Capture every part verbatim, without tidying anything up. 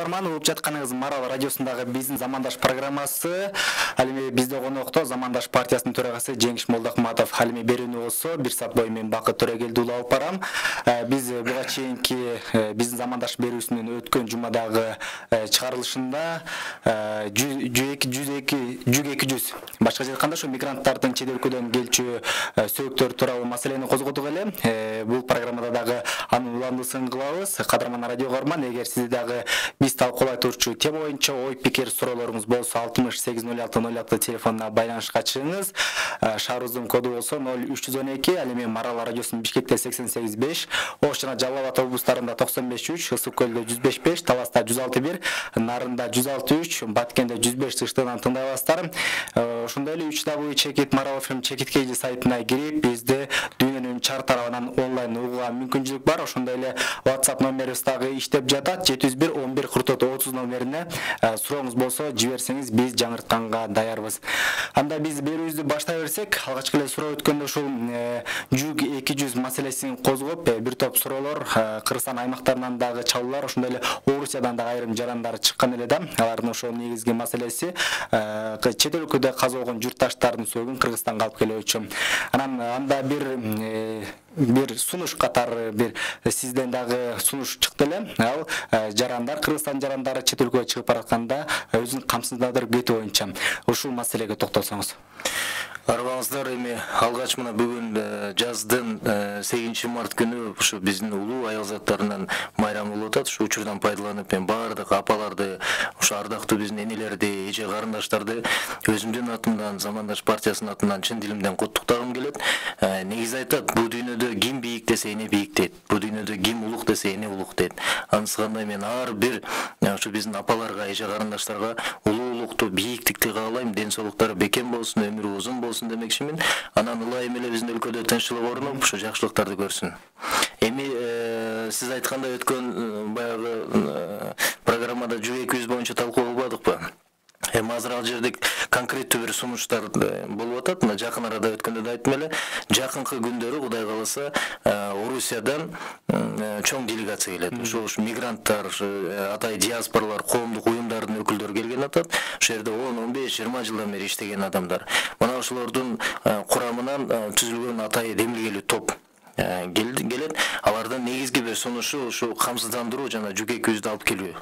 угарман, угуп жатканыңыз Марал радиосундагы биздин замандаш программасы. Ал эми бизде конокто Замандаш партиясынын төрагасы Жеңиш Молдокматов. Ал эми берүүнү болсо бир саат бою мен Бакыт Төрөгелди уулу алып барам. Биз буга чейинки биздин замандаш берүүсүнүн өткөн жумадагы чыгарылышында жүз эки жүз башка айтканда ошо мигранттардын чет өлкөдөн келчү сөөгүттөр тууралуу маселени козгодук эле. Бул программада дагы анын уландысын кылабыз. Кадырман радио угарман, эгер сизде дагы биз талкуулай турчу тема боюнча ой пикир суроолоруңуз болсо алтымыш сегиз ноль алты ноль алты телефонуна байланышка чыгыңыз. Шаарыбыздын коду болсо ноль үч жүз он эки, ал эми Марал радиосунун Бишкекте сексен сегиз беш, Ош жана Жалал Абад облустарында токсон беш үч, Ысык көлдө жүз беш беш, Таласта жүз алты бир, Нарында жүз алты үч, Баткенде жүз беш тыштыгынан тыңдай аласыздар. Ошондой эле үч дабл ю чекит Марал эф эм чекит кей сайтына кирип, бизде дүйнөнүн чар тарабынан онлайн угууга мүмкүнчүлүк бар. Ошондой эле WhatsApp номерибиз дагы иштеп жатат. жети жүз бир он бир кырк төрт отуз номерине сурооңуз болсо жиберсеңиз биз жаңыртканга даярбыз. Анда биз берүүбүздү баштай берсек, алгачкы эле суроо өткөндө ушул жүк эки жүз маселесин козгоп, бир топ суроолор Кыргызстан аймактарынан дагы чалуулар, ошондой эле Орусиядан дагы айрым жарандар чыккан эле да. Алардын ошол негизги маселеси чет өлкөдө каза болгон журтташтардын сөөгүн Кыргызстанга алып келүүчү. Анан анда бир бир сунуш катары бир сизден дагы сунуш чыкты эле. Ал жарандар, Кыргызстан жарандары чет өлкөгө чыгып баратканда өзүн камсыздандырып кетүү боюнча. Ушул маселеге токтолсоңуз. Арбаңыздар, эми алгач мына бүгүн жаздын сегизинчи март күнү ушу биздин улуу аялзаттарынын майрамы болуп атат. Ушу учурдан пайдаланып мен баардык апаларды, ушу ардактуу биздин энелерди, эже карындаштарды өзүмдүн атымдан, Замандаш партиясынын атынан чын дилимден куттуктагым келет. Негизи айтат, бул дүйнөдө ким бийик десе эне бийик дейт. Бул дүйнөдө ким улук десе эне улук дейт. Анысы кандай мен ар бир ушу биздин апаларга, эже карындаштарга улуулукту, бийиктикти каалайм, ден соолуктары бекем болсун, өмүрү узун болсун демекчимин. Анан ылайым эле биздин өлкөдө тынччылык орнуп, ушу жакшылыктарды көрсүн. Эми сиз айткандай өткөн баягы программада жүз эки жүз боюнча талкуу кылбадыкпы? Эми азыр ал жерде конкреттүү бир сунуштар болуп атат. Мына жакын арада өткөндө да айттым эле, жакынкы күндөрү Кудай кааласа Орусиядан чоң делегация келет. Ошо мигранттар, атай диаспоралар, коомдук уюмдардын өкүлдөрү келген атат. Ошол жерде он он беш жыйырма жылдан бери иштеген адамдар. Мына ошолордун курамынан түзүлгөн атай демилгелүү топ келет. Алардын негизги бир сунушу ушу камсыздандыруу жана жүк эки жүздү алып келүү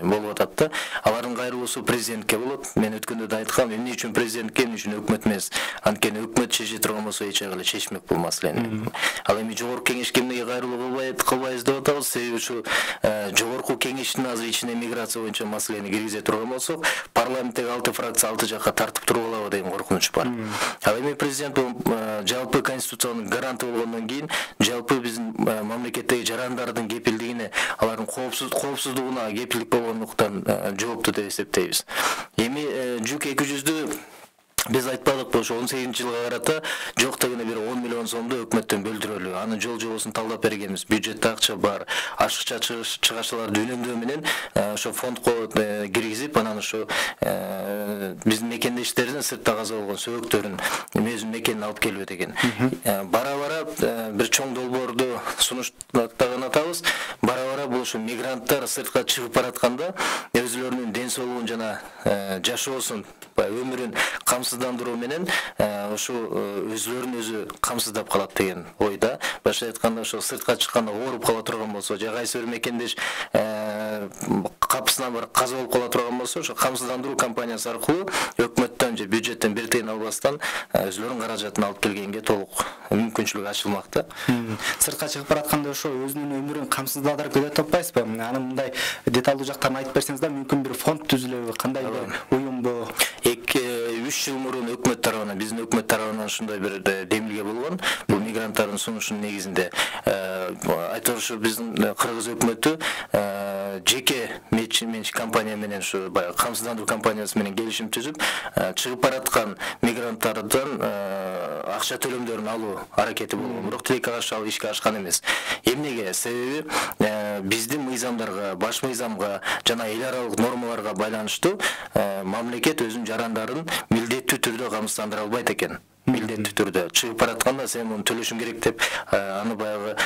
болуп атат да. Алардын кайрылуусу президентке болот. Мен өткөндө да айткам, эмне үчүн президентке, эмне үчүн өкмөт эмес? Анткени өкмөт чече турган болсо эч жагы эле чечмек бул маселени. Ал эми жогорку кеңешке эмнеге кайрылуу кылбайт, кылбайбыз деп атабыз? Себеби ушу жогорку кеңештин азыр ичине миграция боюнча маселени киргизе турган болсок, парламенттеги алты фракция алты жакка тартып туруп алабы деген коркунуч бар. Ал эми президент жалпы конституциянын гаранты болгондон кийин, жалпы биздин мамлекеттеги жарандардын кепилдигине, алардын коопсуздугуна кепилдик болгондуктан жоопту деп эсептейбиз. Эми жүк эки жүздү биз айтпадыкпы, ошо он сегизинчи жылга карата жок дегенде бир он миллион сомду өкмөттөн бөлдүрөлү. Анын жол жобосун талдап бергенбиз. Бюджетте акча бар. Ашыкча чыгашчыларды үнөмдөө менен ошо фондко киргизип, анан ошо биздин мекендештердин сыртта каза болгон сөөгүттөрүн өзүнүн мекенине алып келүү деген. Бара-бара бир чоң долбоорду сунуштаган атабыз. Бара-бара бул ошо мигранттар сыртка чыгып баратканда өзүлөрүнүн ден соолугун жана жашоосун, өмүрүн камсыздандыруу менен ошо өзүлөрүн өзү камсыздап калат деген ойда. Башка айтканда, ошо сыртка чыкканда ооруп кала турган болсо, же кайсы бир мекендеш капысынан бар каза болуп кала турган болсо, ошо камсыздандыруу компаниясы аркылуу өкмөттөн же бюджеттен бир тыйын албастан өзүлөрүнүн каражатын алып келгенге толук мүмкүнчүлүк ачылмак да. Сыртка чыгып баратканда ошо өзүнүн өмүрүн камсыздандырып кетет деп атпайсызбы? Анын мындай деталдуу жактарын айтып берсеңиз да, мүмкүн бир фонд түзүлөбү, кандай бир уюмбу? үч жыл мурун өкмөт тарабынан, биздин өкмөт тарабынан ушундай бир демилге болгон. Бул мигранттардын сунушунун негизинде айтор ушу биздин Кыргыз өкмөтү жеке менчик компания менен, ушу баягы камсыздандыруу компаниясы менен келишим түзүп, чыгып бараткан мигранттардан акча төлөмдөрүн алуу аракети болгон. Бирок тилекке каршы ал ишке ашкан эмес. Эмнеге? Себеби биздин мыйзамдарга, баш мыйзамга жана эл аралык нормаларга байланыштуу мамлекет өзүнүн жарандарын милдеттүү түрдө камсыздандыра албайт экен. Милдеттүү түрдө чыгып баратканда сен муну төлөшүң керек деп аны баягы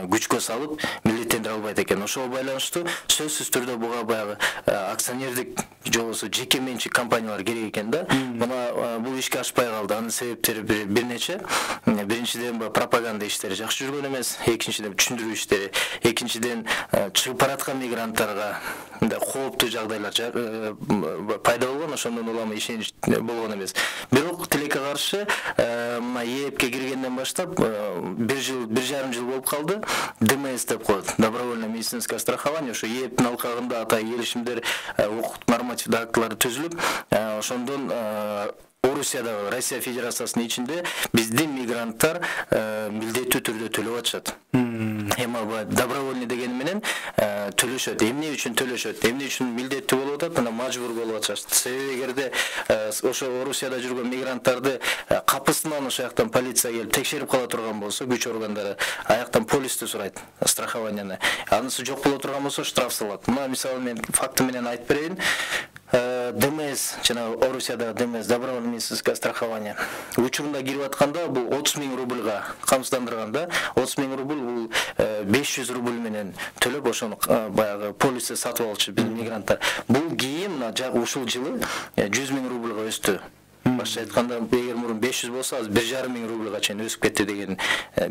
күчкө салып, милдеттен тендер албайт экен. Ошого байланыштуу сөзсүз түрдө буга баягы акционердик же болбосо жеке менчик компаниялар керек экен да. Мына бул ишке ашпай калды. Анын себептери бир нече. Биринчиден пропаганда иштери жакшы жүргөн эмес, экинчиден түшүндүрүү иштери, экинчиден чыгып бараткан мигранттарга кооптуу жагдайлар пайда болгон, ошондон улам ишенич болгон эмес. Бирок тилекке каршы мына ЕЭПке киргенден баштап бир жыл, бир жарым жыл болуп калды. ДМС деп коет, добровольное медицинское страхование. Ошо ЕЭПтин алкагында ата келишимдер, укук нормативдик актылары түзүлүп, ошондон Орусияда, Россия Федерациясынын ичинде биздин мигранттар милдеттүү түрдө төлөп атышат. Эми добровольный дегени менен төлөшөт. Эмне үчүн төлөшөт? Эмне үчүн милдеттүү болуп атат? Мына мажбур болуп атышат. Себеби эгерде ошо Орусияда жүргөн мигранттарды капысынан ошо жактан полиция келип текшерип кала турган болсо, күч органдары аяктан полистү сурайт, страхованияны. Анысы жок боло турган болсо штраф салат. Мына мисалы мен факты менен айтып берейин. ДМС, жана Орусияда ДМС, добровольное медицинское страхование. Учурунда кирип атканда бул отуз миң рубльга камсыздандырганда, отуз миң рубль бул беш жүз рубль менен төлөп ошону баягы полисти сатып алчу биздин мигранттар. Бул кийин мына ушул жылы жүз миң рубльга өстү. Башка айтканда, эгер мурун беш жүз болсо, азыр бир жарым миң рубльга чейин өсүп кетти деген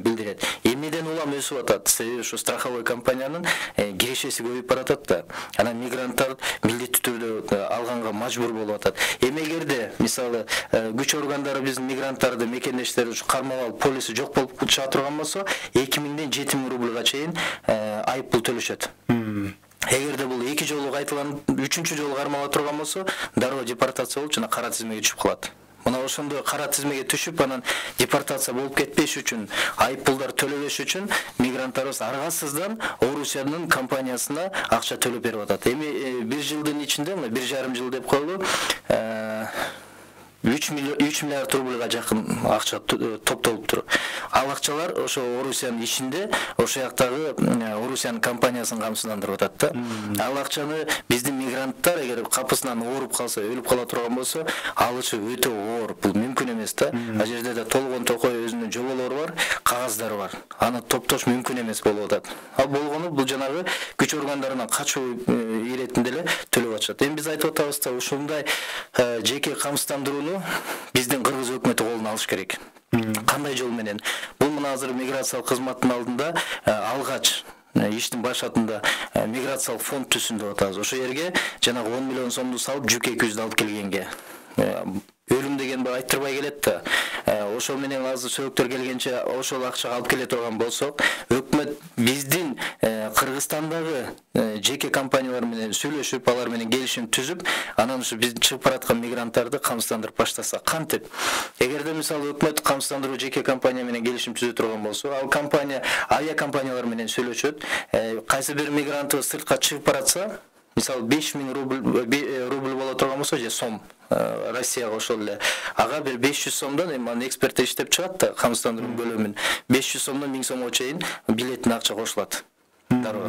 билдирет. Эмнеден улам өсүп атат? Себеби ушу страховой компаниянын кирешеси көбөйүп баратат да. Анан мигранттар милдеттүү түрдө алганга мажбур болуп атат. Эми эгерде мисалы күч органдары биздин мигранттарды мекендештери ушу кармап алып, полиси жок болуп чыга турган болсо, эки миңден жети миң рубльга чейин айып пул төлөшөт. Эгерде бул эки жолу кайталанып, үчүнчү жолу кармала турган болсо, дароо депортация болуп, жана кара тизмеге түшүп калат. Мына ошондой кара тизмеге түшүп, анан депортация болуп кетпеш үчүн, айып пулдар төлөбөш үчүн мигранттарыбыз аргасыздан Орусиянын компаниясына акча төлөп берип атат. Эми бир жылдын ичинде, мына бир жарым жыл деп коелу, үч миллиард рубльга жакын акча топтолуптур. Ал акчалар ошо Орусиянын ичинде, ошо жактагы Орусиянын компаниясын камсыздандырып атат да. Ал акчаны биздин мигранттар эгер капысынан ооруп калса, өлүп кала турган болсо, алышы өтө оор. Бул мүмкүн эмес да. Ал жерде да толгон токой өзүнүн жоболору бар, кагаздары бар. Аны топтош мүмкүн эмес болуп атат. Ал болгону бул жанагы күч органдарынан качуу иретинде эле төлөп атышат. Эми биз айтып атабыз да, ушундай жеке камсыздандырууну биздин кыргыз өкмөтү колуна алыш керек. Кандай жол менен? Бул мына азыр миграциялык кызматтын алдында алгач иштин башатында миграциялык фонд түзсүн деп атабыз. Ошо жерге жанагы он миллион сомду салып, жүк эки жүздү алып келгенге өлүм деген бир айттырбай келет да. Ошол менен азыр сөктөр келгенче ошол акчага алып келе турган болсок, өкмөт биздин Кыргызстандагы жеке компаниялар менен сүйлөшүп, алар менен келишим түзүп, анан ушу биз чыгып бараткан мигранттарды камсыздандырып баштаса, кантип? Эгерде мисалы өкмөт камсыздандыруу жеке компания менен келишим түзө турган болсо, ал компания авиа компаниялар менен сүйлөшөт. Кайсы бир мигрант сыртка чыгып баратса, мисалы беш миң рубль рубль боло турган болсо, же сом Россияга ошол эле, ага бир беш жүз сомдон, эми аны эксперт иштеп чыгат да, камсыздандыруу бөлүмүн беш жүз сомдон миң сомго чейин билеттин акча кошулат. Дароо.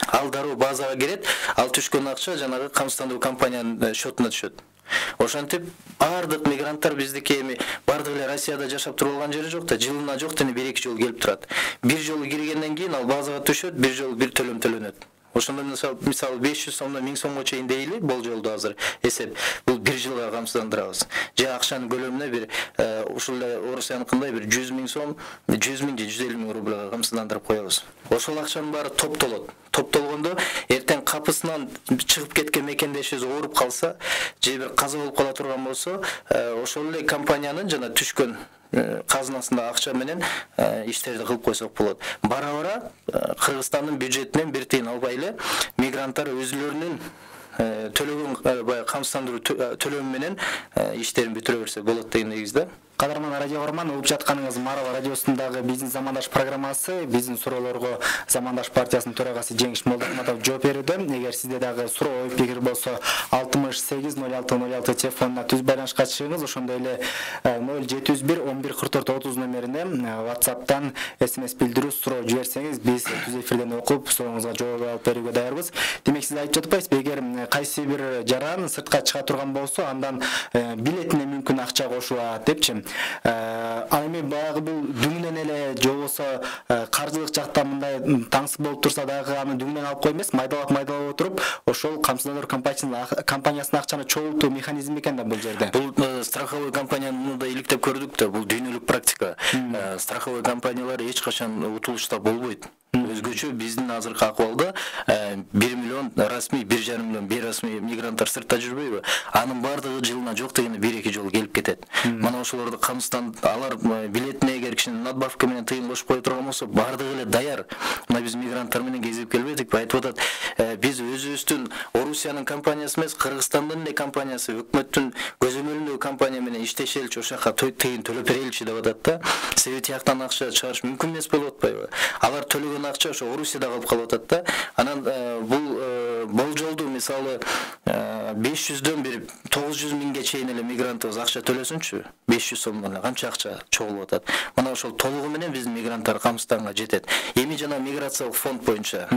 Ал дароо базага кирет, ал түшкөн акча жанагы камсыздандыруу компаниянын счетуна түшөт. Ошентип бардык мигранттар биздики эми бардык эле Россияда жашап туруп алган жери жок да, жылына жок дени бир эки жолу келип турат. Бир жолу киргенден кийин ал базага түшөт, бир жолу бир төлөм төлөнөт. Ошондо мисалы беш жүз сомдон миң сомго чейин дейли, болжолду азыр эсеп. Бул бир жылга камсыздандырабыз. Же акчанын көлөмүнө бир ушул эле Орусияныкындай бир жүз миң сом, жүз миң же жүз элүү миң рубльга камсыздандырып коебуз. Ошол акчанын баары топтолот. Топтолгондо эртең капысынан чыгып кеткен мекендешибиз ооруп калса, же бир каза болуп кала турган болсо, ошол эле компаниянын жана түшкөн казынасында акча менен иштерди кылып койсок болот. Бара-бара Кыргызстандын бюджетинен бир тыйын албай эле мигранттар өзүлөрүнүн төлөгөн баягы камсыздандыруу төлөмү менен иштерин бүтүрө берсе болот деген негизде. Кадырман радио көрөрман, угуп жатканыңыз Марава радиосундагы биздин замандаш программасы. Биздин суроолорго Замандаш партиясынын төрагасы Жеңиш Молдохматов жооп берүүдө. Эгер сизде дагы суроо, ой пикир болсо, алтымыш сегиз ноль алты ноль алты телефонуна түз байланышка чыгыңыз. Ошондой эле ноль жети жүз бир он бир кырк төрт отуз номерине WhatsApp'тан смс билдирүү суроо жиберсеңиз, биз түз эфирден окуп, сурооңузга жооп алып берүүгө даярбыз. Демек сиз айтып жатпайсызбы, эгер кайсы бир жаран сыртка чыга турган болсо, андан билетине мүмкүн акча кошулат депчи. Ал эми баягы бул дүңүнөн эле же болбосо каржылык жактан мындай таңсыз болуп турса дагы аны дүңүнөн алып кой эмес, майдалап майдалап отуруп ошол камсыздандыруу компаниясынын акчаны чогултуу механизми экен да бул жерде. Бул страховой компанияны да иликтеп көрдүк да, бул дүйнөлүк практика. Страховой компаниялар эч качан утулушта болбойт. Өзгөчө биздин азыркы акыбалда бир миллион расмий, бир жарым миллион бейрасмий мигранттар сыртта жүрбөйбү? Анын баардыгы жылына жок дегенде бир эки жолу келип кетет. Мына ошолорду камсыздан алар билетине эгер кичине надбавка менен тыйын кошуп кое турган болсо, баардыгы эле даяр. Мына биз мигранттар менен кезип келбедикпи? Айтып атат, биз өзүбүздүн Орусиянын компаниясы эмес, Кыргызстандын эле компаниясы, өкмөттүн көзөмөлүндөгү компания менен иштешеличи, ошол жака тыйын төлөп береличи деп атат да. Себеби тияктан акча чыгарыш мүмкүн эмес болуп атпайбы? Алар төлөгөн акча ошо Орусияда калып калып атат да. Анан бул болжолду мисалы беш жүздөн бир тогуз жүз миңге чейин эле мигрантыбыз акча төлөсүнчү, беш жүз сомдон эле канча акча чогулуп атат. Мына ошол толугу менен биздин мигранттар камсызданга жетет. Эми жана миграциялык фонд боюнча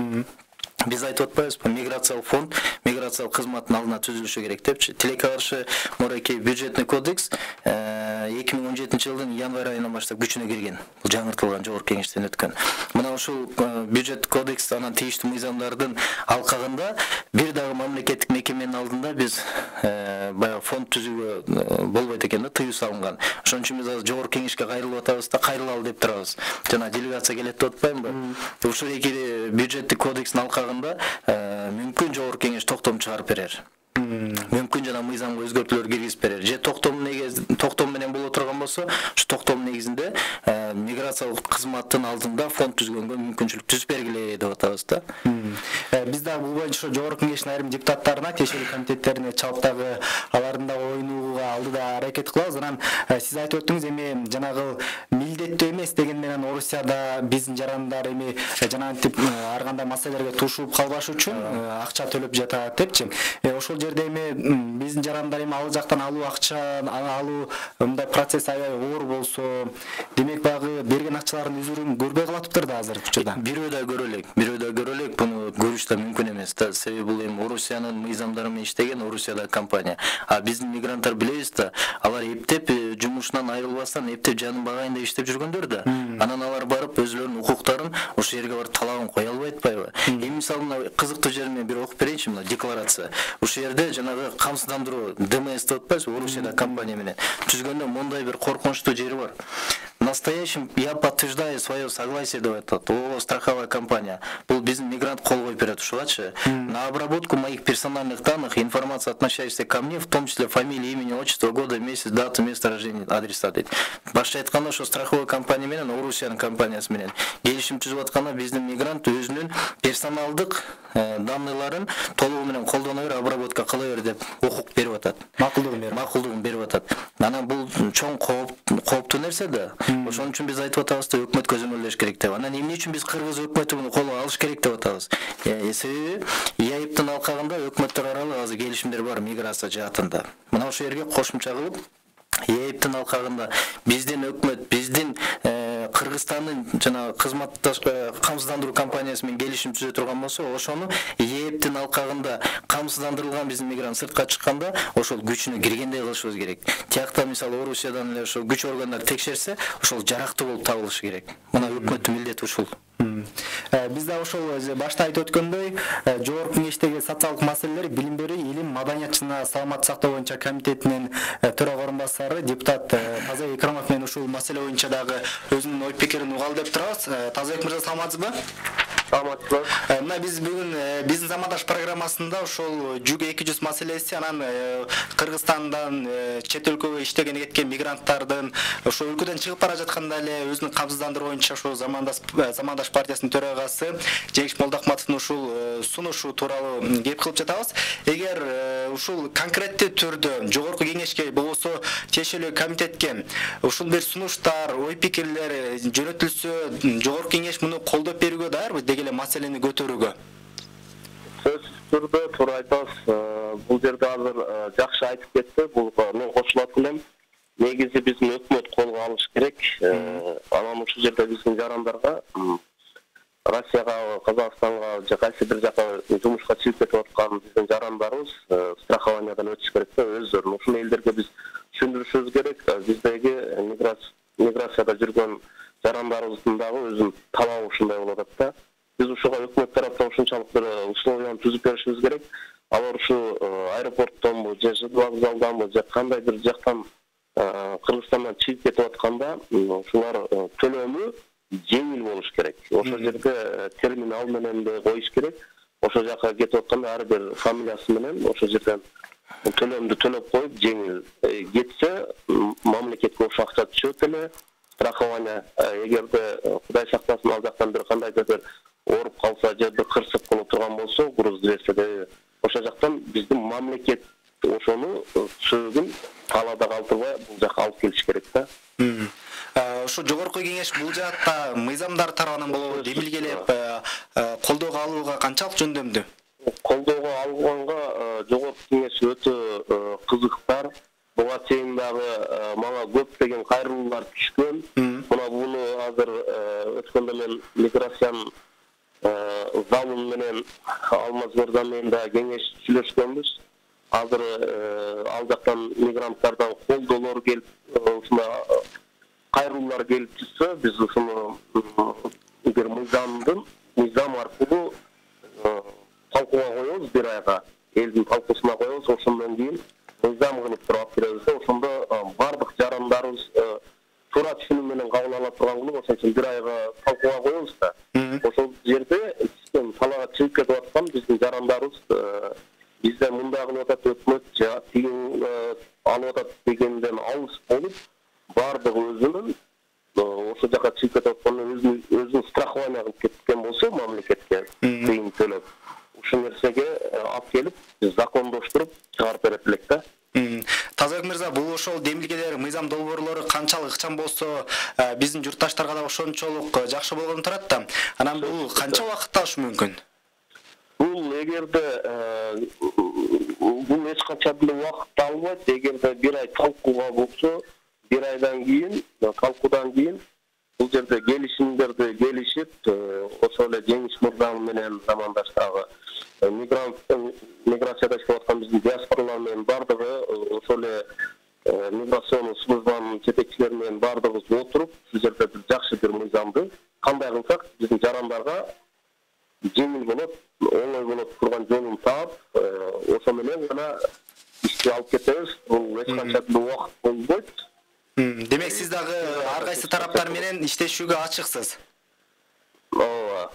биз айтып атпайбызбы, миграциялык фонд миграциялык кызматтын алдына түзүлүшү керек депчи. Тилекке каршы муракей бюджетный кодекс эки миң он жетинчи жылдын январь айынан баштап күчүнө кирген. Бул жаңыртылган жогорку кеңештен өткөн. Мына ушул бюджет кодекс анан тийиштүү мыйзамдардын алкагында бир дагы мамлекеттик мекеменин алдында биз баягы фонд түзүүгө болбойт экен да, тыюу салынган. Ошон үчүн биз азыр жогорку кеңешке кайрылып атабыз да, кайрылалы деп турабыз. Жана делегация келет деп атпаймынбы? Ушул эки бюджеттик кодекстин алкагында мүмкүн жогорку кеңеш токтом чыгарып берер. Мүмкүн жана мыйзамга өзгөртүүлөр киргизип берер. Же токтом токтом менен боло турган болсо, ушу токтом негизинде миграциялык кызматтын алдында фонд түзгөнгө мүмкүнчүлүк түзүп бергиле деп атабыз да. Биз дагы бул боюнча жогорку кеңештин айрым депутаттарына, тиешелүү комитеттерине чалып дагы алардын да оюн угууга алдыда аракет кылабыз. Анан сиз айтып өттүңүз, эми жанагы милдеттүү эмес деген менен Орусияда биздин жарандар эми жанагынтип ар кандай маселелерге тушуп калбаш үчүн акча төлөп жатат депчи. Ошол жерде эми биздин жарандар эми ал жактан алуу акча алуу мындай процесс аябай оор болсо, демек баягы берген акчалардын үзүрүн көрбөй калатыптыр да азыркы учурда. Бирөө да көрө элек, бирөө да көрө элек, буну көрүш да мүмкүн эмес да. Себеби бул эми Орусиянын мыйзамдары менен иштеген Орусияда компания. А биздин мигранттар билебиз да, алар эптеп жумушунан айрылбастан эптеп жанын багайын деп иштеп жүргөндөр да. Анан алар барып өзүлөрүнүн укуктарын ошол жерге барып талабын кое албайт атпайбы? Эми мисалы мына кызыктуу жерин мен бир окуп берейинчи, мына декларация. Ушул жерде жанагы камсыздандыруу ДМС деп атпайбызбы, Орусияда компания менен түзгөндө мондай бир коркунучтуу жери бар. Настоящим я подтверждаю свое согласие деп атат. О, страховая компания. Бул биздин мигрант кол коюп берет ушугачы. На обработку моих персональных данных, информация, относящаяся ко мне, в том числе фамилия, имени, отчество, года, месяц, дата, место рождения, адреса дейт. Башка айтканда, ошо страховой компания менен Орусиянын компаниясы менен келишим түзүп атканда биздин мигрант өзүнүн персоналдык данныйларын толугу менен колдоно бер, обработка кыла бер деп укук берип атат. Макулдугун берип макулдугун берип атат. Анан бул чоң кооптуу нерсе да. Ошон үчүн биз айтып атабыз да, өкмөт көзөмөлдөш керек деп. Анан эмне үчүн биз кыргыз өкмөтү муну колго алыш керек деп атабыз. Себеби ЯИПтин алкагында өкмөттөр аралык азыр келишимдер бар миграция жаатында. Мына ошол жерге кошумча кылып ЯИПтин алкагында биздин өкмөт, биздин Кыргызстандын жана кызматташ камсыздандыруу компаниясы менен келишим түзө турган болсо, ошону ЯИПтин алкагында камсыздандырылган биздин мигрант сыртка чыкканда ошол күчүнө киргендей кылышыбыз керек. Тиякта мисалы Орусиядан эле ошол күч органдары текшерсе, ошол жарактуу болуп табылышы керек. Мына өкмөттүн милдети ушул. Биз да ошол башта айтып өткөндөй, жогорку кеңештеги социалдык маселелер, билим берүү, илим, маданият жана саламаттык сактоо боюнча комитетинин төрага орун басары депутат Тазабек Икрамов менен ушул маселе боюнча дагы өзүнүн ой пикирин угалы деп турабыз. Тазабек мырза, саламатсызбы? Саламатсызбы? Мына биз бүгүн биздин замандаш программасында ошол жүз эки жүз маселеси, анан Кыргызстандан чет өлкөгө иштеген кеткен мигранттардын ошол өлкөдөн чыгып бара жатканда эле өзүнүн камсыздандыруу боюнча ошол замандаш замандаш партиясынын төрагасы Жеңиш Молдохматовдун ушул сунушу тууралуу кеп кылып жатабыз. Эгер ушул конкреттүү түрдө жогорку кеңешке болбосо тиешелүү комитетке ушул бир сунуштар, ой пикирлер жөнөтүлсө, жогорку кеңеш муну колдоп берүүгө даярбы, деги эле маселени көтөрүүгө? Сөзсүз түрдө туура айтасыз. Бул жерде азыр жакшы айтып кетти. Бул мен кошулат элем. Негизи биздин өкмөт колго алыш керек. Анан ушул жерде биздин жарандарга Россияга, Казакстанга же кайсы бир жака жумушка чыгып кетип аткан биздин жарандарыбыз страхованиядан өтүш керек да өздөрүн. Ушул элдерге биз түшүндүрүшүбүз керек. Биздеги миграцияда жүргөн жарандарыбыздын дагы өзүнүн талабы ушундай болуп атат да. Биз ушуга өкмөт тараптан ушунчалык бир условияны түзүп беришибиз керек. Алар ушу аэропорттонбу же ЖД вокзалданбы же кандай бир жактан Кыргызстандан чыгып кетип атканда ушулар төлөмү жеңил болуш керек. Ошол жерде терминал менен де коюш керек. Ошол жака кетип атканда ар бир фамилиясы менен ошол жерден төлөмдү төлөп коюп жеңил кетсе мамлекетке ошо акча түшөт эле. Страхование эгерде Кудай сактасын ал жактан бир кандайдыр бир ооруп калса же бир кырсык боло турган болсо груз берсе ошол жактан биздин мамлекет ошону сөөгүн талаада калтырбай бул жака алып келиш керек да. Ошо жогорку кеңеш бул жаатта мыйзамдар тарабынан болобу демилгелеп колдоого алууга канчалык жөндөмдүү? Колдоого алганга жогорку кеңеш өтө кызыктар. Буга чейин дагы мага көптөгөн кайрылуулар түшкөн. Мына буну азыр өткөндө мен миграциянын залым менен Алмаз мырза менен да кеңеш сүйлөшкөнбүз. Азыр ал жактан мигранттардан колдоолор келип, ушуна кайрылуулар келип турса, биз ушуну эгер мыйзамдын мыйзам аркылуу талкууга коебуз бир айга, элдин талкуусуна коебуз, ошондон кийин мыйзам кылып туруп алып беребиз. Ошондо бардык жарандарыбыз туура түшүнүү менен кабыл ала турган кылып, ошон үчүн бир айга талкууга коебуз да. Ошол жерде талаага чыгып кетип аткан биздин жарандарыбыз бизде мындай кылып атат өкмөт же тигин алып атат дегенден алыс болуп, бардыгы өзүнүн ошол жака чыгып кетип атканын өзүнүн өзүн страхование кылып кеткен болсо мамлекетке тыйын төлөп, ушул нерсеге алып келип закондоштуруп чыгарып берет элек да. Тазабек мырза, бул ошол демилгелер, мыйзам долбоорлору канчалык ыкчам болсо, биздин журтташтарга да ошончолук жакшы болгон турат да. Анан бул канча убакытта алышы мүмкүн? Бул эгерде бул эч качан деле убакытты албайт. Эгерде бир ай талкууга болсо, бир айдан кийин, талкуудан кийин бул жерде келишимдерди келишип, ошол эле Жеңиш мырза менен замандаштагы мигрант миграцияда иштеп аткан биздин диаспоралар менен бардыгы ошол эле миграционный службанын жетекчилери менен бардыгыбыз отуруп, ушул жерде бир жакшы бир мыйзамды кандай кылсак биздин жарандарга жеңил болот, оңой болот турган жолун таап, ошо менен гана ишти алып кетебиз. Бул эч качан деле убакыт болбойт. Демек сиз дагы ар кайсы тараптар менен иштешүүгө ачыксыз. Ооба,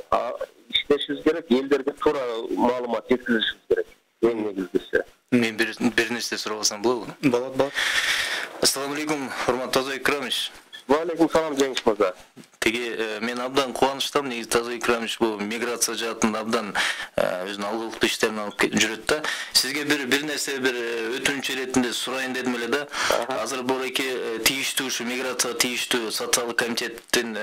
иштешибиз керек, элдерге туура маалымат жеткизишибиз керек. Эң негизгиси. Мен бир нерсе сурабасам болобу? Болот, болот. Ассаламу алейкум, урматтуу Тазабек Икрамович. Ва алейкум салам, Жеңиш мырза. Теги мен абдан кубанычтамын, негизи Тазабек Икрамович бул миграция жаатында абдан өзүнүн алгылыктуу иштерин алып жүрөт да. Сизге бир бир нерсе бир өтүнүч иретинде сурайын дедим эле да. Азыр буреки тийиштүү ушу миграция тийиштүү социалдык комитеттин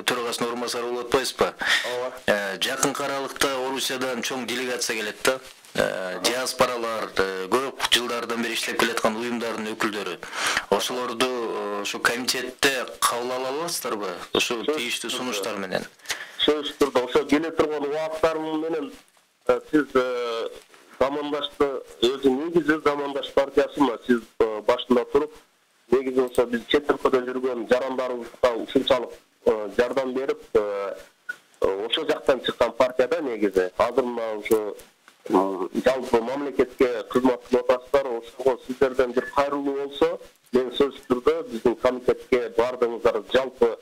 төрагасынын орун басары болуп атпайсызбы? Ооба. Жакынкы аралыкта Орусиядан чоң делегация келет да. Диаспоралар көп жылдардан бери иштеп келаткан уюмдардын өкүлдөрү. Ошолорду ошо комитетте кабыл ала аласыздарбы? Ошо тийиштүү сунуштар менен. Сөзсүз түрдө ошо келе турган убакыттарым менен сиз замандашты өзү негизи замандаш партиясы мына сиз башында туруп, негизи ошо биз чет өлкөдө жүргөн жарандарыбызга ушунчалык жардам берип, ошол жактан чыккан партияда негизи. Азыр мына ошо жалпы мамлекетке кызмат кылып атасыздар, ошого сиздерден бир кайрылуу болсо, мен сөзсүз түрдө биздин комитетке бардыгыңыздар жалпы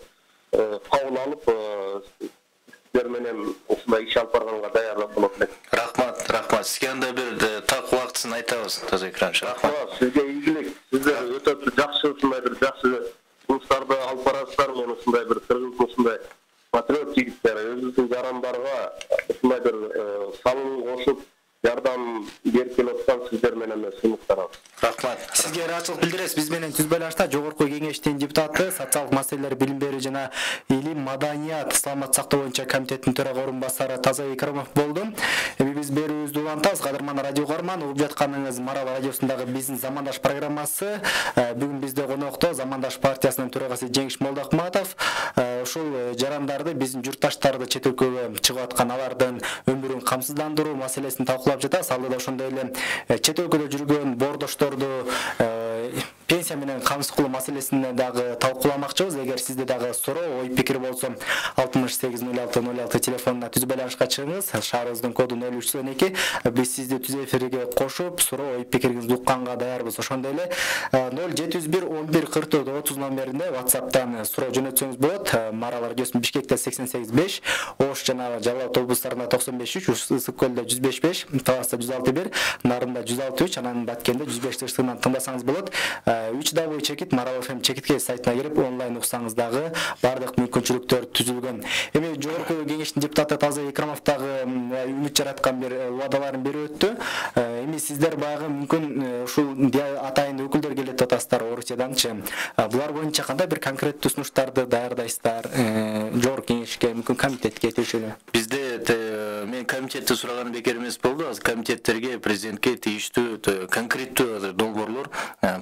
кабыл алып, сиздер менен ушундай иш алып барганга даярдык болот элек. Рахмат, рахмат. Сизге анда бир так убактысын айтабыз, Тазабек Икрамович. Рахмат, сизге ийгилик. Сиздер өтө жакшы ушундай бир жакшы жумуштарды алып барасыздар. Мен ушундай бир кыргыздын ушундай патриот жигиттер өзүбүздүн жарандарга ушундай бир салым кошуп жардам берип келип аткан сиздер менен сыймыктарабыз. Рахмат. Сизге ыраачылык билдиребиз. Биз менен түз байланышта жогорку кеңештин депутаты, социалдык маселелер, билим берүү жана илим, маданият, саламат сактоо боюнча комитеттин төрага орун басары Тазабек Икрамов болду. Эми биз берүүбүздү улантабыз. Кадырман радио көрөрман, угуп жатканыңыз Марал радиосундагы биздин Замандаш программасы. Бүгүн бизде конокто Замандаш партиясынын төрагасы Жеңиш Молдокматов. ушул жарандарды биздин журтташтарды чет өлкөгө чыгып аткан алардын өмүрүн камсыздандыруу маселесин талкуулап жатабыз. Алдыда ошондой эле чет өлкөдө жүргөн боордошторду пенсия менен камсыз кылуу маселесине дагы талкууламакчыбыз. Эгер сизде дагы суроо, ой пикир болсо алтымыш сегиз ноль алты ноль алты телефонуна түзүү байланышка чыгыңыз. Шаарыбыздын коду ноль үч он эки. Биз сизди түзүү эфирге кошуп, суроо, ой пикириңизди укканга даярбыз. Ошондой эле ноль жети жүз бир он бир кырк төрт отуз номерине WhatsApp'тан суроо жөнөтсөңүз болот. Маралар Радиосунун Бишкекте сексен сегиз беш, Ош жана Жалал абад облустарында токсон беш үч, Ысык көлдө жүз беш беш, Таласта жүз алты бир, Нарында жүз алты үч, анан Баткенде жүз беш тыштыгынан тыңдасаңыз болот. үч дабл чекит Марал эф эм чекитке сайтына кирип онлайн уксаңыз дагы бардык мүмкүнчүлүктөр түзүлгөн. Эми жогорку кеңештин депутаты Таза Экрамов дагы үмүт жараткан бир убадаларын берип өттү. Эми сиздер баягы мүмкүн ушул атайын өкүлдөр келет атасыздар Орусияданчы. Булар боюнча кандай бир конкреттүү сунуштарды даярдайсыздар? Жогорку кеңешке, мүмкүн комитетке тиешелүү? Бизде мен комитетти сураганым бекер эмес болду. Азыр комитеттерге, президентке тийиштүү конкреттүү долбоорлор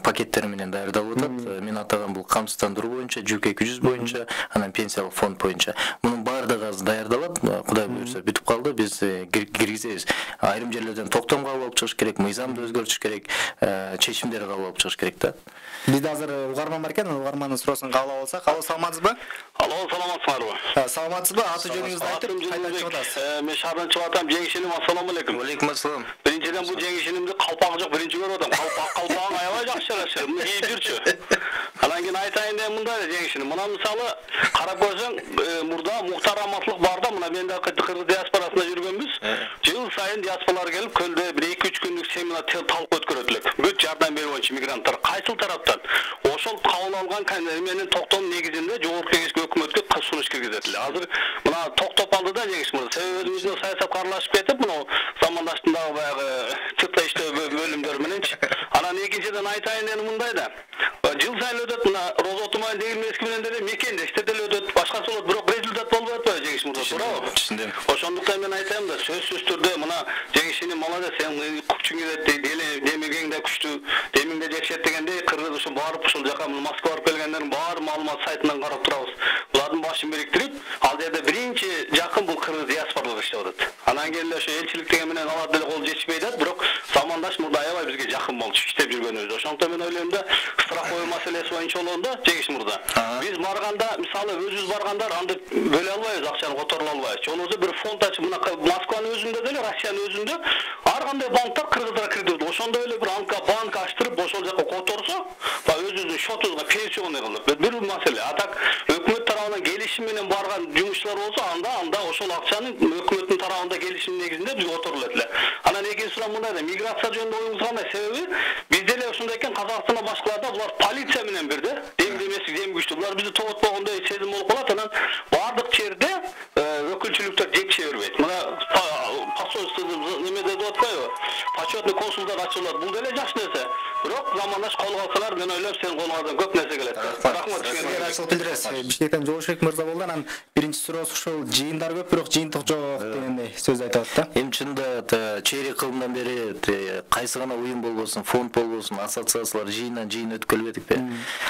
пакеттери менен даярдалып атат. Мен атаган бул камсыздандыруу боюнча, жүк эки жүз боюнча, анан пенсиялык фонд боюнча. Мунун баардыгы азыр даярдалат. Кудай буйрса бүтүп калды. Биз киргизебиз. Айрым жерлерден токтом кабыл алып чыгыш керек, мыйзамды өзгөртүш керек, чечимдерди кабыл алып чыгыш керек да. Бизде азыр угарман бар экен, угармандын суроосун кабыл алып алсак. Алло, саламатсызбы? Алло, саламатсызбы? Саламатсызбы? Аты жөнүңүздү айтып, кайдан чыгып атасыз? Мен шаардан чыгып атам. Жеңишиним, ассаламу алейкум. Алейкум ассалам. Биринчиден бул жеңишинимди калпагы жок биринчи көрүп атам. Калпак калпагың аябай жакшы жарашыр. Муну кийип жүрчү. Анан кийин айтайын деген мындай жеңишиним. Мына мисалы карап көрсөң, мурда Муктар Раматлык барда, мына мен да кыргыз диаспорасында жүргөнбүз. Жыл сайын диаспоралар келип, көлдө бир эки үч күндүк семинар талкуу өткөрөт элек. Бүт жардам берүү боюнча мигранттар кайсыл тараптан ошол кабыл алган менен токтоонун негизинде жогорку кеңешке өкмөткө сунуш киргизет эле. Азыр мына токтоп алды да жеңиш мырза. Себеби өзүбүздүн саясатка аралашып кетип, мына замандаштын дагы баягы чытта иштөө бөлүмдөр мененчи. Анан экинчиден айтайын дегеним мындай да. Жыл сайын өтөт, мына Роза Туман деген мески менен деле мекендештер деле өтөт. Башкасы болот, бирок результат болбой атпайбы жеңиш мырза, туурабы? Түшүндүм. Ошондуктан мен айтайм да, сөзсүз түрдө мына жеңишини молодец, сен күчүң келет, демегең да күчтүү, демиң да жекшет дегендей кыргыз ушу барып ушул жака Москва барып келгендердин баары маалымат сайтынан карап турабыз. Булардын башын бириктирип, ал жерде биринчи жакын бул кыргыз диаспоралар иштеп атат. Анан кийин эле ошо элчилик деген менен алар деле кол жетишпей атат, бирок замандаш мурда аябай бизге жакын болчу иштеп жүргөнүбүз. Ошондуктан мен ойлойм да, страховой маселеси боюнча болгондо жеңиш мурда. Биз барганда, мисалы өзүбүз баргандар анда бөлө албайбыз, акчаны которо албайбыз. Болбосо бир фонд ачып, мына Москванын өзүндө деле, Россиянын өзүндө ар кандай банктар кыргыздар кирди. Ошондой эле бир анка банк ачтырып, ошол жака которсо, ба өзүбүздүн счетубузга пенсионный кылып, бир маселе. А так өкмөт тарабынан келишим менен барган жумушчулар болсо, анда анда ошол акчаны өкмөттүн тарабында келишим негизинде биз которулат эле. Анан экинчи суроо мындай да, миграция жөнүндө оюңуз кандай? Себеби биз деле ошондой экен, Казакстанда башкаларда булар полиция менен бирде, дем демеси дем күчтүү. Булар бизди тоботпогондой сезим болуп калат. Анан бардык жерде өкүлчүлүктөр жетише бербейт. Мына посольство немеде деп атпайбы? Почетный консулдар ачылат. Бул деле жакшы нерсе. Бирок замандаш кол алсалар, мен ойлойм, сен колуңардан көп нерсе келет. Рахмат. Сизге ачылып билдиресиз. Бишкектен Жолшбек мырза болду. Анан биринчи суроосу ушул жыйындар көп, бирок жыйынтык жок дегендей сөз айтып атат да. Эми чында чейрек кылымдан бери кайсы гана уюм болбосун, фонд болбосун, ассоциациялар жыйындан жыйын өткөрүлбедикпи?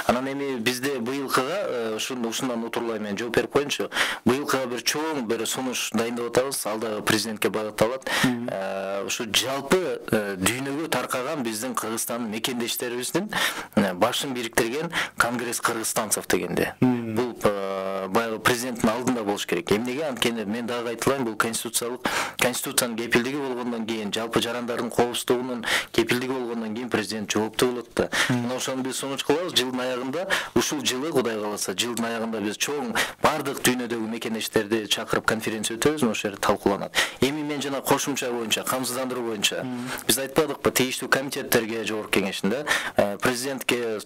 Анан эми бизде быйылкыга ушундан утурлай мен жооп берип коеюнчу. Быйылкыга бир чоң бир сунуш дайындап атабыз. Ал да президентке багытталат. Ушу жалпы дүйнөгө таркаган биздин Кыргызстандын мекендештерибиздин башын бириктирген Конгресс кыргызстанцев дегенде. Бул баягы президенттин алдында болуш керек. Эмнеге? Анткени мен дагы айтылайын, бул конституциялык конституциянын кепилдиги болгондон кийин, жалпы жарандардын коопсуздугунун кепилдиги болгондон кийин президент жооптуу болот да. Мына ошону биз сунуш кылабыз. Жылдын аягында, ушул жылы Кудай кааласа, жылдын аягында биз чоң бардык дүйнөдөгү мекендештерди чакырып конференция өтөбүз, ошол жерде талкууланат. Эми мен жана кошумча боюнча, камсыздандыруу боюнча биз айтпадыкпы, тийиштүү комитеттерге, жогорку кеңешинде президентке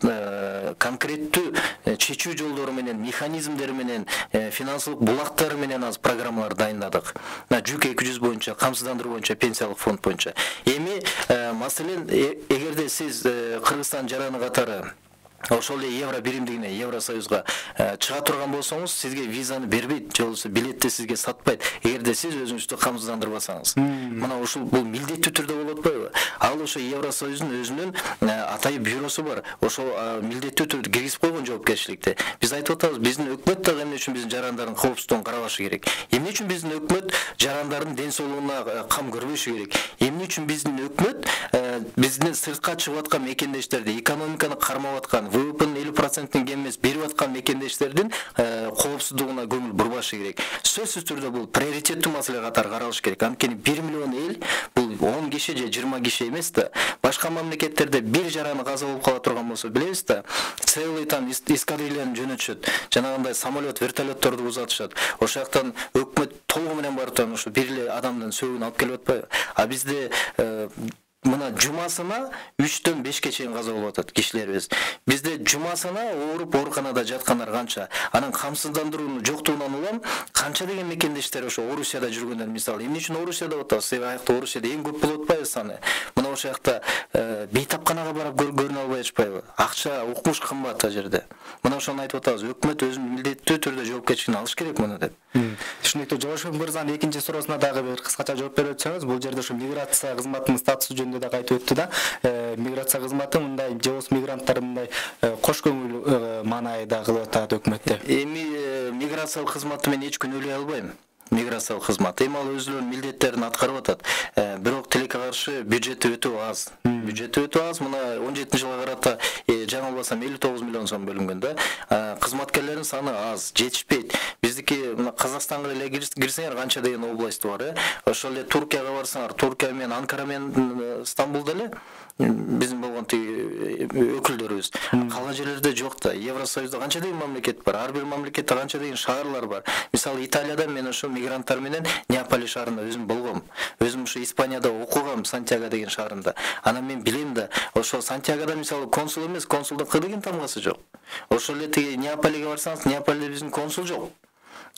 конкреттүү чечүү жолдору менен, механизмдери менен, финансылык булактары менен аз программалар дайындадык. Жүк эки жүз боюнча, камсыздандыруу боюнча, пенсиялык фонд боюнча. Эми маселен, эгерде сиз Кыргызстан жараны катары ошол эле евро биримдигине, Евросоюзга чыга турган болсоңуз, сизге визаны бербейт, же болбосо билетти сизге сатпайт, эгерде сиз өзүңүздү камсыздандырбасаңыз. Мына ушул бул милдеттүү түрдө болот атпайбы? Ал ошо Евросоюздун өзүнүн атайын бюросу бар. Ошол милдеттүү түрдө киргизип койгон жоопкерчиликти. Биз айтып атабыз, биздин өкмөт дагы эмне үчүн биздин жарандардын коопсуздугун карабашы керек? Эмне үчүн биздин өкмөт жарандардын ден соолугуна кам көрбөшү керек? Эмне үчүн биздин өкмөт биздин сыртка чыгып аткан мекендештерди, экономиканы кармап аткан, вэ вэ пэнин элүү проценттен кем эмес берип аткан мекендештердин коопсуздугуна көңүл бурбашы керек? Сөзсүз түрдө бул приоритеттүү маселе катары каралыш керек. Анткени бир миллион эл бул он киши же жыйырма киши эмес да. Башка мамлекеттерде бир жараны каза болуп кала турган болсо, билебиз да, целый там эскадрильяны жөнөтүшөт. Жанагындай самолет, вертолетторду узатышат. Ошол жактан өкмөт толугу менен барып турган ошо бир эле адамдын сөөгүн алып келип атпайбы? А бизде мына жумасына үчтөн бешке чейин каза болуп атат кишилерибиз. Бизде жумасына ооруп ооруканада жаткандар канча? Анан камсыздандыруунун жоктугунан улам канча деген мекендештер ошо Орусияда жүргөндөр, мисалы, эмне үчүн Орусияда атабыз? Себеби аякта Орусияда эң көп болуп атпайбы саны? Мына ошол жакта бейтапканага барып көрүнө албай атышпайбы? Акча, укмуш кымбат ал жерде. Мына ошону айтып атабыз, өкмөт өзүнүн милдеттүү түрдө жоопкерчилигин алыш керек муну деп. Түшүнүктүү. Жолошбек мырзанын экинчи суроосуна дагы бир кыскача жооп берип өтсөңүз, бул жерде ошо миграция кызматынын статусу жөнүндө дагы айтып өттү да. Миграция кызматы мындай же болбосо мигранттар мындай кош көңүл маанайда кылып атат өкмөттө. Эми миграциялык кызматы мен эч күнөөлөй албайм. Миграциялык кызмат эми ал өзүнүн милдеттерин аткарып атат. Бирок тилекке каршы бюджети өтө аз. Бюджети өтө аз. Мына он жетинчи жылга карата жаңылбасам элүү тогуз миллион сом бөлүнгөн да. Кызматкерлердин саны аз, жетишпейт. Биздики мына Казакстанга эле кирсеңер канча деген область бар, э? Ошол эле Туркияга барсаңар, Туркия менен Анкара менен Стамбулда эле биздин болгон тиги өкүлдөрүбүз. Калган жерлерде жок да. Евросоюзда канча деген мамлекет бар, ар бир мамлекетте канча деген шаарлар бар. Мисалы Италияда мен ошо мигранттар менен Неаполь шаарында өзүм болгом. Өзүм ошо Испанияда окугам, Сантьяго деген шаарында. Анан мен билем да, ошо Сантьягода мисалы консул эмес, консулдун кы деген тамгасы жок. Ошол эле тиги Неаполге барсаңыз, Неаполде биздин консул жок.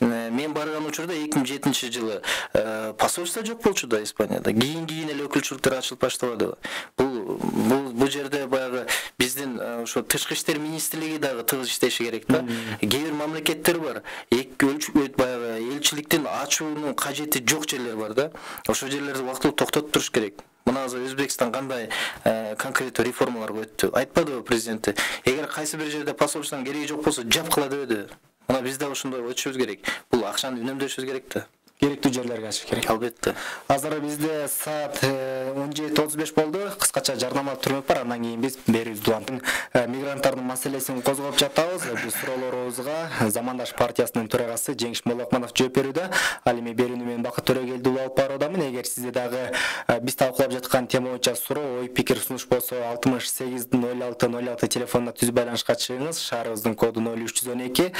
Мен барган учурда эки миң жетинчи жылы посольство жок болчу да Испанияда. Кийин-кийин эле өкүлчүлүктөр ачылып баштабады. Бул бул бул жерде баягы биздин ошо тышкы иштер министрлиги дагы тыгыз иштеши керек да. Кээ бир мамлекеттер бар, эки өлчөт баягы элчиликтин ачуунун кажети жок жерлер бар да. Ошол жерлерди убактылуу токтотуп туруш керек. Мына азыр Өзбекстан кандай конкреттүү реформаларга өттү. Айтпадыбы президенти? Эгер кайсы бир жерде посольствонун кереги жок болсо, жапкыла дебеди. Мына биз да ошондой өтүшүбүз керек. Бул акчаны үнөмдөшүбүз керек да. Керектүү жерлерге ачыш керек. Албетте. Азыр бизде саат он жети отуз беш болду. Кыскача жарнамалык түрмөк бар. Андан кийин биз берүүбүздү улантып, мигранттардын маселесин козгоп жатабыз. Бул суроолорубузга Замандаш партиясынын төрагасы Жеңиш Молокманов жооп берүүдө. Ал эми берүүнү мен Бакыт Төрөгелдиұлы алып баруудамын. Эгер сизде дагы биз талкуулап жаткан тема боюнча суроо, ой пикир сунуш болсо, алтымыш сегиз ноль алты ноль алты телефонуна түз байланышка чыгыңыз. Шаарыбыздын коду ноль үч жүз он эки.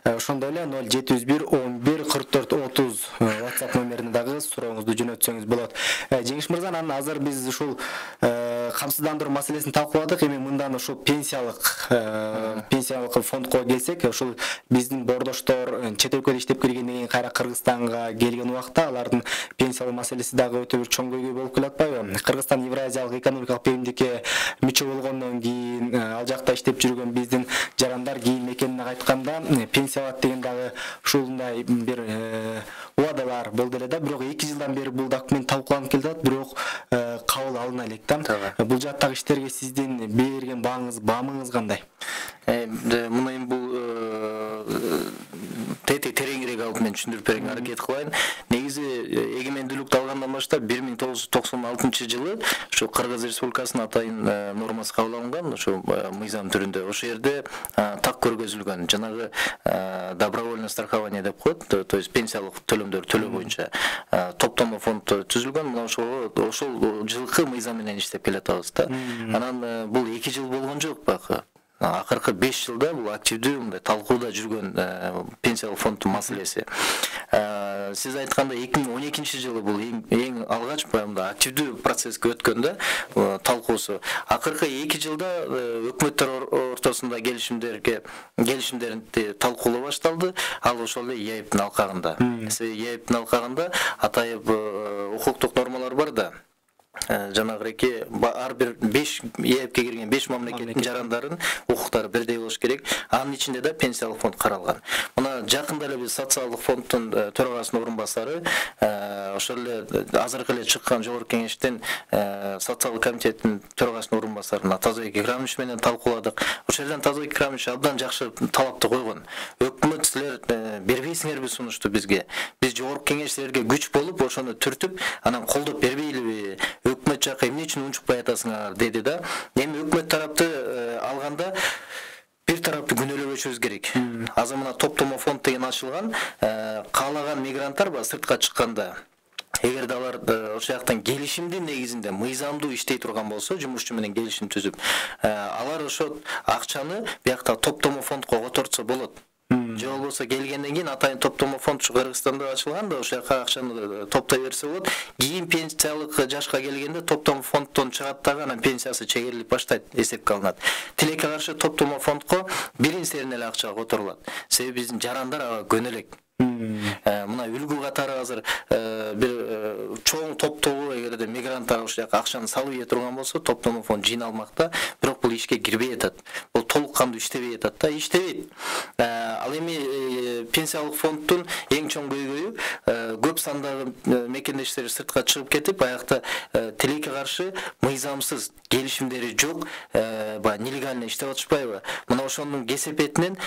Ошондой эле ноль жети жүз бир он бир кырк төрт отуз WhatsApp номерине дагы сурооңузду жөнөтсөңүз болот. Жеңиш мырза, анан азыр биз ушул камсыздандыруу маселесин талкууладык. Эми мындан ушул пенсиялык пенсиялык фондко келсек, ушул биздин бордоштор чет өлкөдө иштеп келгенден кийин кайра Кыргызстанга келген убакта алардын пенсиялык маселеси дагы өтө бир чоң көйгөй болуп келатпайбы? Кыргызстан Евразиялык экономикалык биримдикке мүчө болгондон кийин ал жакта иштеп жүргөн биздин жарандар кийин мекенине кайтканда пенсия алат деген дагы ушундай бир убадалар болду эле да. Бирок эки жылдан бери бул документ талкууланып келатат, бирок кабыл алына элек да. Бул жактагы иштерге сиздин берген бааңыз, баамыңыз кандай? Мына эми бул тети тереңирээк алып мен түшүндүрүп берүүгө аракет кылайын. Негизи эгемендүүлүктү алгандан баштап бир миң тогуз жүз токсон алтынчы жылы ушу Кыргыз Республикасынын атайын нормасы кабыл алынган, ушу мыйзам түрүндө. Ошол жерде так көргөзүлгөн жанагы добровольное страхование деп коет, то есть пенсиялык төлөмдөр төлөө боюнча топтомо фонд түзүлгөн. Мына ошол ошол жылкы мыйзам менен иштеп келатабыз да. Анан бул эки жыл болгон жок бакы. Акыркы беш жылда бул активдүү мындай талкууда жүргөн пенсиялык фонддун маселеси. Сиз айткандай эки миң он экинчи жылы бул эң алгач баягы активдүү процесске өткөн да талкуусу. Акыркы эки жылда өкмөттөр ортосунда келишимдерге келишимдерди талкуулоо башталды. Ал ошол эле ЕАЭПтин алкагында. ЕАЭПтин алкагында атайын укуктук нормалар бар да. жанагыреки ар бир беш ээпке кирген беш мамлекеттин жарандарын укуктары бирдей болуш керек. Анын ичинде да пенсиялык фонд каралган. Мына жакында эле биз социалдык фонддун төрагасынын орун басары ошол эле азыркы эле чыккан жогорку кеңештен социалдык комитеттин төрагасынын орун басары Тазабек Икрамович менен талкууладык. Ошол жерден Тазабек Икрамович абдан жакшы талапты койгон. Өкмөт силер бербейсиңерби сунушту бизге? Биз жогорку кеңеш силерге күч болуп, ошону түртүп, анан колдоп бербейлиби? Өкмөт жакка эмне үчүн унчукпай атасыңар деди да. Эми өкмөт тарапты алганда бир тарапты күнөөлөбөшүбүз керек. Азыр мына топтомо фонд деген ачылган, каалаган мигранттар бар сыртка чыкканда. Эгерде алар ошол жактан келишимдин негизинде мыйзамдуу иштей турган болсо, жумушчу менен келишим түзүп, алар ошол акчаны биякта топтомо фондко которсо болот. Же болбосо келгенден кийин атайын топтомо фонд Кыргызстанда ачылган да, ошол жака акчаны топтой берсе болот. Кийин пенсиялык жашка келгенде топтомо фонддон чыгат дагы, анан пенсиясы чегерилип баштайт, эсепке алынат. Тилекке каршы топтомо фондко бирин серин эле акча которулат. Себеби биздин жарандар ага көнөлөк. Мына үлгү катары азыр бир чоң топтогу эгерде мигранттар ошол жака акчаны салып ийе турган болсо, топтомо фонд жыйналмакта, бирок бул ишке кирбей атат. Бул толук кандуу иштебей атат да, иштебейт. Ал эми пенсиялык фонддун эң чоң көйгөйү көп сандагы мекендештер сыртка чыгып кетип, баягы тилекке каршы мыйзамсыз келишимдери жок, баягы нелегально иштеп атышпайбы? Мына ошонун кесепетинен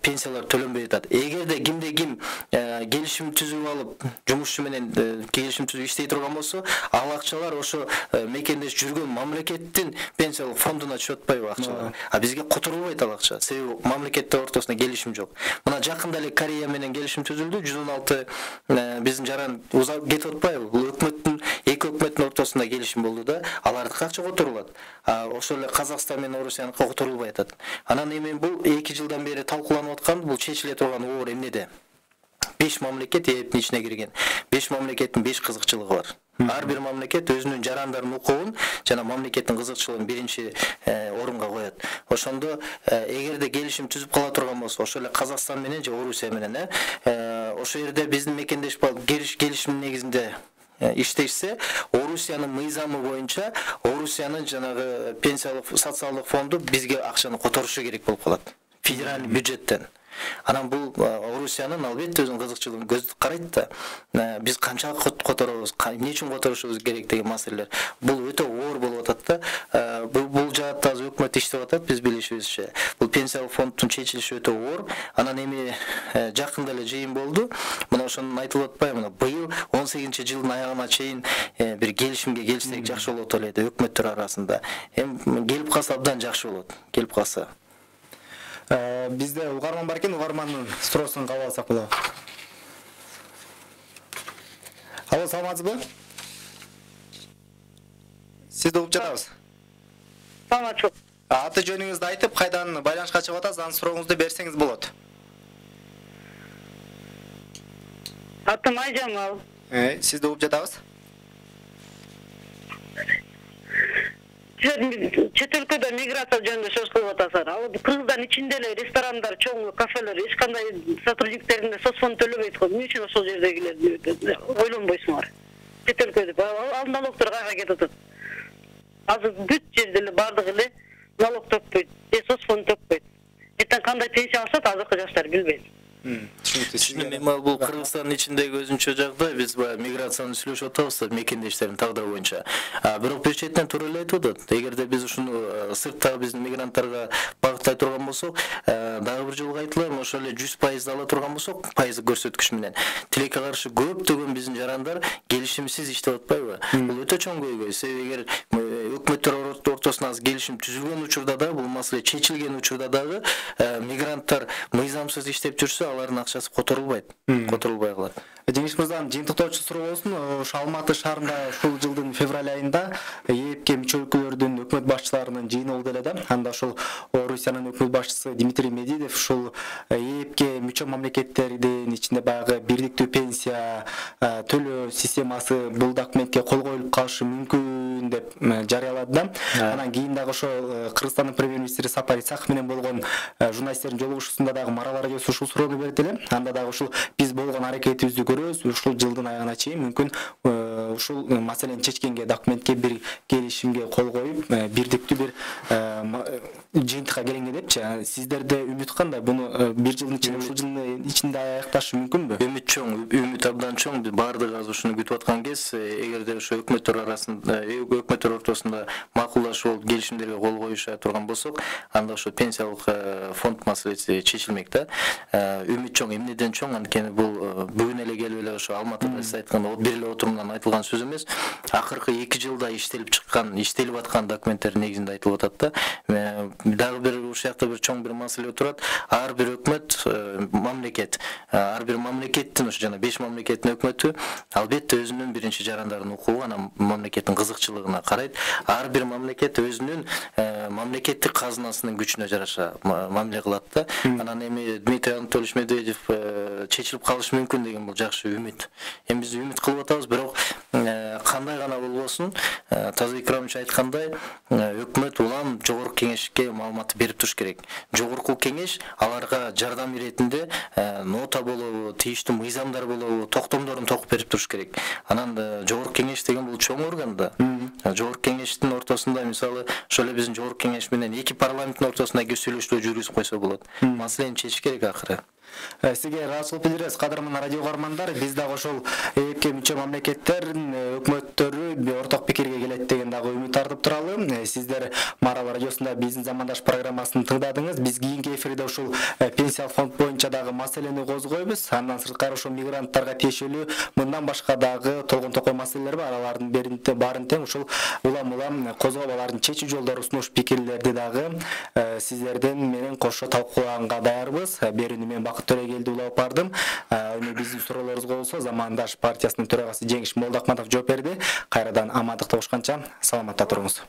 пенсиялар төлөнбөй атат. Эгерде кимде ким келишим түзүп алып, жумушчу менен келишим түзүп иштей турган болсо, ал акчалар ошо мекендеш жүргөн мамлекеттин пенсиялык фондуна түшүп атпайбы акчалар. А бизге которулбайт ал акча. Себеби мамлекеттер ортосунда келишим жок. Мына жакында эле Корея менен келишим түзүлдү. жүз он алты биздин жаран узап кетип атпайбы? Бул өкмөттүн эки өкмөттүн ортосунда келишим болду да, алардыкы акча которулат. А ошол эле Казакстан менен Орусияныкы которулбай атат. Анан эми бул эки жылдан бери талкууланып аткан, бул чечиле турган оор эмнеде? беш мамлекет ээптин ичине кирген. беш мамлекеттин беш кызыкчылыгы бар. Ар бир мамлекет өзүнүн жарандардын укугун жана мамлекеттин кызыкчылыгын биринчи орунга коет. Ошондо эгерде келишим түзүп кала турган болсо, ошол эле Казакстан менен же Орусия менен, ошол жерде биздин мекендеш келишимдин негизинде иштешсе, Орусиянын мыйзамы боюнча Орусиянын жанагы пенсиялык социалдык фонду бизге акчаны которушу керек болуп калат. Федеральный бюджеттен. Анан бул Орусиянын албетте өзүнүн кызыкчылыгын көз карайт да. Биз канчалык которобуз, эмне үчүн которушубуз керек деген маселелер. Бул өтө оор болуп атат да. Бул жаатта азыр өкмөт иштеп атат, биз билишибизче. Бул пенсиялык фонддун чечилиши өтө оор. Анан эми жакында эле жыйын болду. Мына ошону айтылып атпайбы? Мына быйыл он сегизинчи жылдын аягына чейин бир келишимге келишсек жакшы болот эле өкмөттөр арасында. Эми келип калса абдан жакшы болот. Келип калса. Бизде угарман бар экен, угармандын суроосун кабыл алсак болот. Алло, саламатсызбы? Сизди угуп жатабыз. Саламатчылык. Аты жөнүңүздү айтып, кайдан байланышка чыгып атасыз, анын сурооңузду берсеңиз болот. Атым Айжамал. Э, сизди угуп жатабыз. Чет өлкөдө миграция жөнүндө сөз кылып атасыздар. Ал Кыргызстан ичинде эле ресторандар, чоң кафелер, эч кандай сотрудниктерине соцфонд төлөбөйт го. Эмне үчүн ошол жердегилер ойлонбойсуңар? Чет өлкөдө ал налогдор кайга кетип атат? Азыр бүт жерде эле бардыгы эле налог төкпөйт, же соцфонд төкпөйт. Эртең кандай пенсия алышат, азыркы жаштар билбейт. Түшүнүктүү. Бул Кыргызстандын ичиндеги өзүнчө жагдай, биз баягы миграцияны сүйлөшүп атабыз, мекендештердин тагдыры боюнча. Бирок бир четтен туура эле айтып атат. Эгерде биз ушуну сырттагы биздин мигранттарга багыттай турган болсок, дагы бир жолу айтылам, ошол эле жүз пайыз ала турган болсок, пайыз көрсөткүч менен тилекке каршы көптөгөн биздин жарандар келишимсиз иштеп атпайбы? Бул өтө чоң көйгөй. Себеби эгер өкмөттөр ортосунда келишим түзүлгөн учурда да, бул маселе чечилген учурда дагы мигранттар мыйзамсыз иштеп жүрсө, алардын акчасы которулбайт, которулбай калат. Жеңиш мырзанын жыйынтыктоочу суроо болсун. Ошо Алматы шаарында ушул жылдын февраль айында ээпке мүчө өлкөлөрдүн өкмөт башчыларынын жыйыны болду эле да. Анда ошол Орусиянын өкмөт башчысы Дмитрий Медведев ушул ээпке мүчө мамлекеттердин ичинде баягы бирдиктүү пенсия төлөө системасы бул документке кол коюлуп калышы мүмкүн деп жарыялады да. Анан кийин дагы ошол Кыргызстандын премьер-министри Сапар Исаков менен болгон журналисттердин жолугушуусунда дагы Марал Аракеев ушул суроону берди эле. Анда дагы ушул биз болгон аракетибизди көрөбүз, ушул жылдын аягына чейин мүмкүн ушул маселени чечкенге документке бир келишимге кол коюп бирдиктүү бир жыйынтыкка келгенге депчи. Сиздерде үмүт кандай? Буну бир жылдын ичинде, ушул жылдын ичинде аякташ мүмкүнбү? Үмүт чоң, үмүт абдан чоң. Биз баардыгы азыр ушуну күтүп аткан кез, эгерде ошо өкмөттөр арасында, өкмөттөр ортосунда макулдашып алып келишимдерге кол коюша турган болсок, анда ошо пенсиялык фонд маселеси чечилмек да. Үмүт чоң, эмнеден чоң? Анткени бул бүгүн эле келип эле ошо Алматыда сиз айткандай бир эле отурумдан айтылган сөз эмес. Акыркы эки жылда иштелип чыккан, иштелип аткан документтер негизинде айтылып атат да. Дагы бир ушул жакта бир чоң бир маселе турат. Ар бир өкмөт, мамлекет, ар бир мамлекеттин ошо жана беш мамлекеттин өкмөтү албетте өзүнүн биринчи жарандарын укугу, анан мамлекеттин кызыкчылыгына карайт. Ар бир мамлекет өзүнүн мамлекеттик казынасынын күчүнө жараша мамиле кылат да. Анан эми Дмитрий Анатольевич Медведев чечилип калышы мүмкүн деген бул жакшы үмүт. Эми биз үмүт кылып атабыз, бирок кандай гана болбосун, Таза Икрамович айткандай, өкмөт улам жогорку кеңешке маалымат берип туруш керек. Жогорку кеңеш аларга жардам иретинде нота болобу, тийиштүү мыйзамдар болобу, токтомдорун токуп берип туруш керек. Анан жогорку кеңеш деген бул чоң орган да. Жогорку кеңештин ортосунда мисалы ошо эле биздин жогорку кеңеш менен эки парламенттин ортосунда сүйлөшүүлөр жүргүзүп койсо болот. Маселени чечиш керек акыры. Сизге ыраазычылык билдиребиз, кадырман радио угармандар. Биз дагы ошол эки мүчө мамлекеттердин өкмөттөрү орток пикирге келет деген дагы үмүт артып туралы. Сиздер Марал радиосунда биздин замандаш программасын тыңдадыңыз. Биз кийинки эфирде ушул пенсиялык фонд боюнча дагы маселени козгойбуз. Андан сырткары ошол мигранттарга тиешелүү мындан башка дагы толгон токой маселелер бар. Алардын баарын тең ушул улам-улам козгоп, алардын чечүү жолдорун сунуш пикирлерди дагы сиздерден менен кошо талкуулаганга даярбыз. Берүүнү мен Бакыт Төрөгелди улап бардым. Эми биздин суроолорубузга болсо Замандаш партиясынын төрагасы Жеңиш Молдоахматов жооп берди. Кайрадан амандыкта болушканча саламатта туруңуз.